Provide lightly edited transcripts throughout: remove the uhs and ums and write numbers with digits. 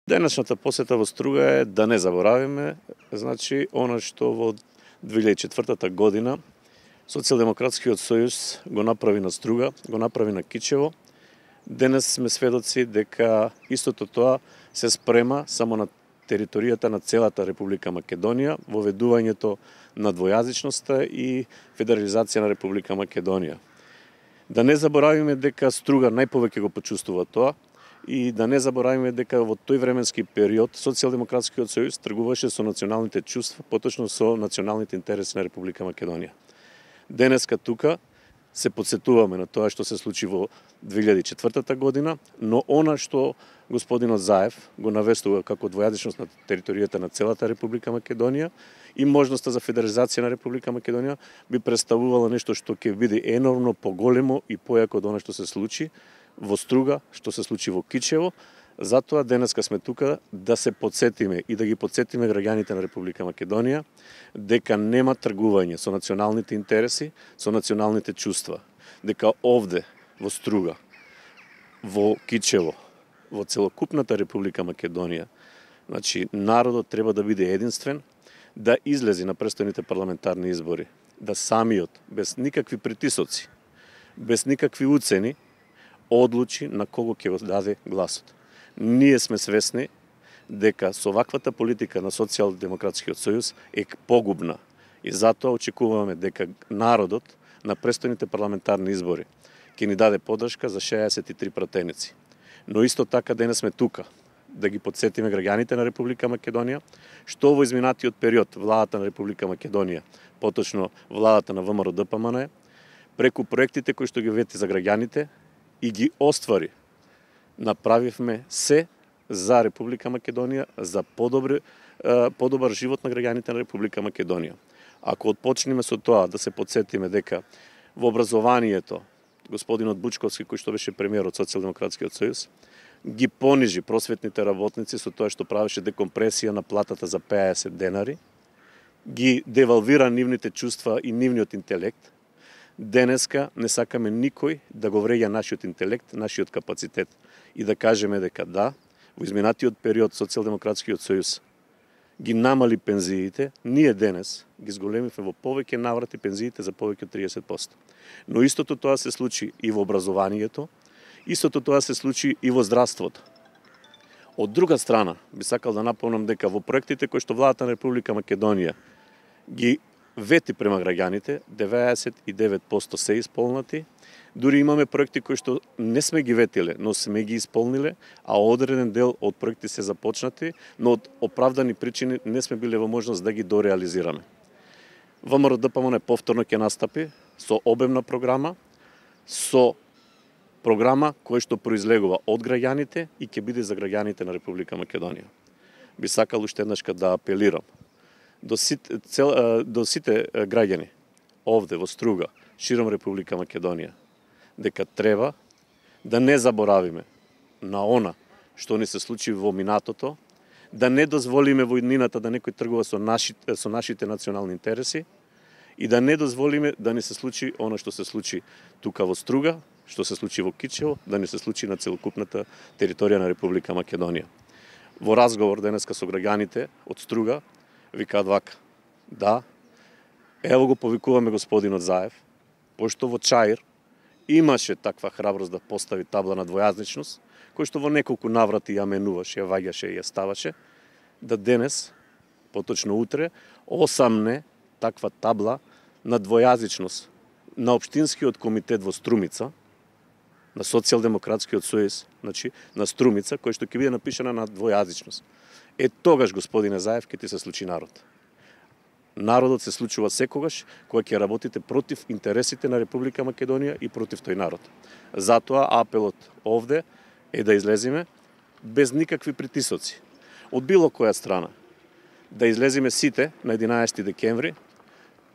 Денешната посета во Струга е да не заборавиме, значи, она што во 2004 година Социјалдемократскиот сојуз го направи на Струга, го направи на Кичево. Денес сме сведоци дека истото тоа се спрема само на територијата на целата Република Македонија, воведувањето на двојазичноста и федерализација на Република Македонија. Да не заборавиме дека Струга најповеќе го почувствува тоа и да не заборавиме дека во тој временски период Социјалдемократскиот сојуз тргуваше со националните чувства, поточно со националните интереси на Република Македонија. Денеска тука се подсетуваме на тоа што се случи во 2004 година, но она што господинот Заев го навестува како двојазичност на територијата на целата Република Македонија и можноста за федерализација на Република Македонија би представувало нешто што ќе биде енормно поголемо и појако од она што се случи во Струга, што се случи во Кичево. Затоа денеска сме тука да се подсетиме и да ги подсетиме граѓаните на Република Македонија дека нема тргување со националните интереси, со националните чувства. Дека овде, во Струга, во Кичево, во целокупната Република Македонија, значи, народот треба да биде единствен, да излези на престојните парламентарни избори, да самиот, без никакви притисоци, без никакви уцени, одлучи на кого ќе го даде гласот. Ние сме свесни дека со ваквата политика на Социјалдемократскиот сојуз е погубна и затоа очекуваме дека народот на престојните парламентарни избори ќе ни даде поддршка за 63 пратеници. Но исто така денес сме тука да ги подсетиме граѓаните на Република Македонија што во изминатиот период владата на Република Македонија, поточно владата на ВМРО-ДПМН, преку проектите кои што ги вети за граѓаните и ги оствари, направивме се за Република Македонија, за подобар живот на граѓаните на Република Македонија. Ако отпочнеме со тоа да се подсетиме дека во образованието господинот Бучковски, кој што беше премиер од Социјалдемократскиот сојуз, ги понижи просветните работници со тоа што правеше декомпресија на платата за 50 денари, ги девалвира нивните чувства и нивниот интелект. Денеска не сакаме никој да го вреѓа нашиот интелект, нашиот капацитет и да кажеме дека да, во изминатиот период Социјалдемократскиот сојуз ги намали пензиите, ние денес ги зголемивме во повеќе наврати пензиите за повеќе од 30%. Но истото тоа се случи и во образованието, истото тоа се случи и во здравството. Од друга страна, би сакал да напомнам дека во проектите кои што владата на Република Македонија ги вети према граѓаните, 99% се исполнати. Дури имаме проекти кои што не сме ги ветиле, но сме ги исполниле, а одреден дел од проекти се започнати, но од оправдани причини не сме биле во можност да ги дореализираме. ВМРО-ДПМН повторно ќе настапи со обемна програма, со програма која што произлегува од граѓаните и ќе биде за граѓаните на Република Македонија. Би сакал уште еднашка да апелирам до сите граѓани овде во Струга, широм Република Македонија, дека треба да не заборавиме на она што ни се случи во минатото, да не дозволиме во иднината да некој тргува со нашите национални интереси и да не дозволиме да ни се случи она што се случи тука во Струга, што се случи во Кичево, да ни се случи на целокупната територија на Република Македонија. Во разговор денеска со граѓаните од Струга викаат вака: да, ево го повикуваме господинот Заев, пошто во Чаир имаше таква храброст да постави табла на двојазичност, кој што во неколку наврати ја менуваше, ја ваѓаше и ја ставаше, да денес, поточно утре, осамне таква табла на двојазичност на Општинскиот комитет во Струмица, на Социјалдемократскиот сојуз, значи на Струмица, кој што ќе биде напишана на двојазичност. Тогаш, господине Заев, ќе ти се случи народ. Народот се случува секогаш кога ќе работите против интересите на Република Македонија и против тој народ. Затоа апелот овде е да излеземе без никакви притисоци од било која страна. Да излеземе сите на 11 декември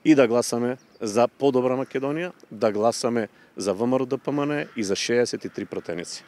и да гласаме за подобра Македонија, да гласаме за ВМРО-ДПМН и за 63 пратеници.